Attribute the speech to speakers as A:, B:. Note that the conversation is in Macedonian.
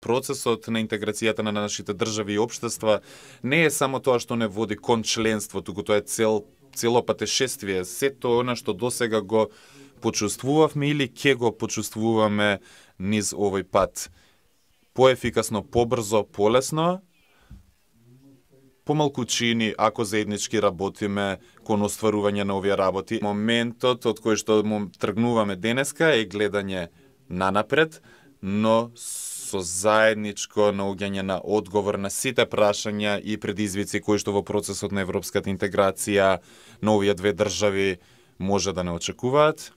A: процесот на интеграцијата на нашите држави и општества не е само тоа што не води кон членство, туку тоа е цело патешествие. Сето она што досега го почувствувавме или ќе го почувствуваме низ овој пат. Поефикасно, побрзо, полесно, помалку чини ако заеднички работиме кон остварување на овие работи. Моментот од кој што тргнуваме денеска е гледање нанапред, но со заедничко наоѓање на одговор на сите прашања и предизвици кои што во процесот на европската интеграција на овие две држави може да не очекуваат.